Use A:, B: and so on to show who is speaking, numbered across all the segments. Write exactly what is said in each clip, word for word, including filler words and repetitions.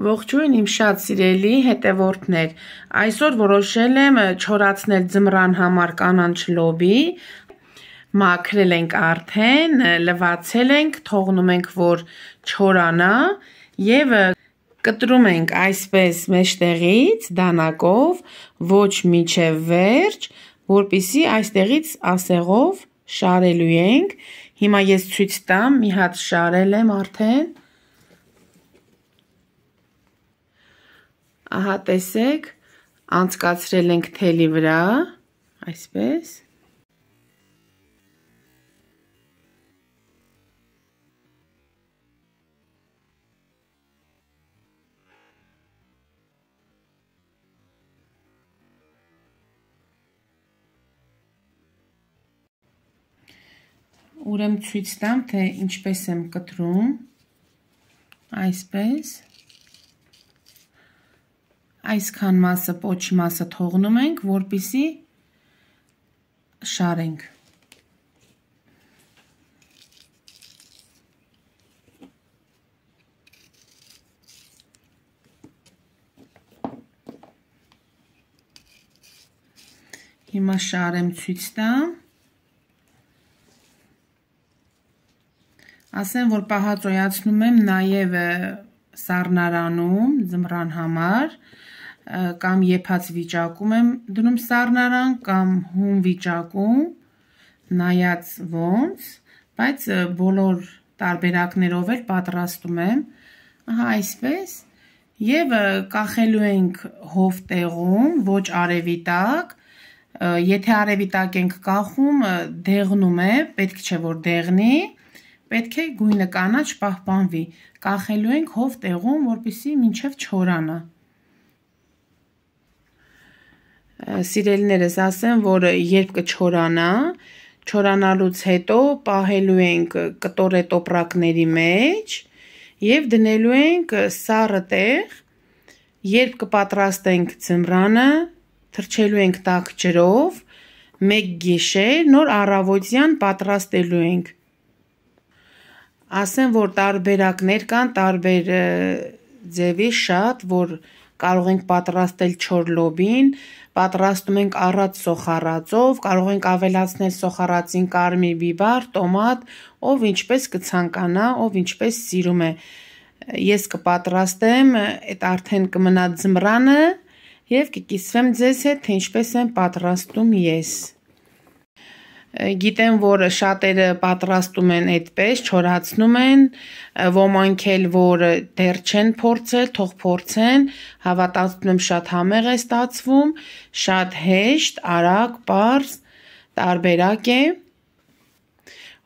A: Ողջույն իմ շատ սիրելի հետևորդներ, այսօր որոշել եմ չորացնել ձմռան համար կանաչ լոբի, մաքրել ենք արդեն, լվացել ենք, թողնում ենք, որ չորանա և կտրում ենք այսպես մեջտեղից դանակով, ոչ մինչև վերջ, որպեսզի այստեղից ասեղով շարելու ենք, հիմա ես ցույց տամ, մի հատ շարել եմ արդեն, ահա տեսեք, անցկացրել ենք թելի վրա, այսպես, ուրեմն ցույց տամ, թե ինչպես եմ կտրում, այսպես, այսքան մասը, պոչի մասը թողնում ենք, որպեսզի շարենք։ Հիմա շարեմ ցույց տամ։ Ասեմ, որ պահածոյացնում եմ նաև սառնարանում ձմռան համար, կամ եփած վիճակում եմ դնում սառնարան, կամ հում վիճակում, նայած ոնց, բայց բոլոր տարբերակներով էլ պատրաստում եմ, ահա այսպես, և կախելու ենք հով տեղում, ոչ արևի տակ, եթե արևի տակ ենք կախում, դեղնում է, պետք չէ որ դեղնի, պետք է գույնը կանաչ պահպանվի, կախելու ենք հով տեղում, որպեսզի մինչև չորանա։ Սիրելիներս, ասեմ, որ երբ կչորանա, չորանալուց հետո պահելու ենք կտորե տոպրակների մեջ և դնելու ենք սառը տեղ, երբ կպատրաստենք ձմռանը, թրջելու ենք տաք ջրով, մեկ գիշեր, նոր առավոտյան պատրաստելու ենք։ Ասեմ, որ տարբերակներ կան, տարբեր ձևի շատ, որ կարող ենք պատրաստել չոր լոբին, պատրաստում ենք առատ սոխառածով, կարող ենք ավելացնել սոխառածին կարմիր բիբար, տոմատ, ով ինչպես կցանկանա, ով ինչպես սիրում է։ Ես կպատրաստեմ, այդ արդեն կմնա ձմռանը և կկիսվեմ ձեզ հետ, թե ինչպես եմ պատրաստում ես։ Գիտեմ, որ շատերը պատրաստում են այդպես, չորացնում են, ոմանք էլ, որ դեռ չեն փորձել, թող փորձեն, հավատացնում եմ շատ համեղ է ստացվում, շատ հեշտ, արագ, պարզ, տարբերակ է։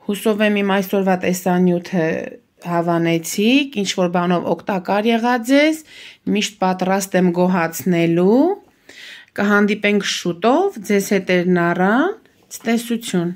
A: Հուսով եմ իմ այսօրվա տեսանյութը հավանեցիք, ինչ-որ բանով օգտակար եղավ ձեզ, միշտ պատրաստ եմ գոհացնելու, կհանդիպենք շուտով, ձեզ հետ էր Նարան, ցտեսություն։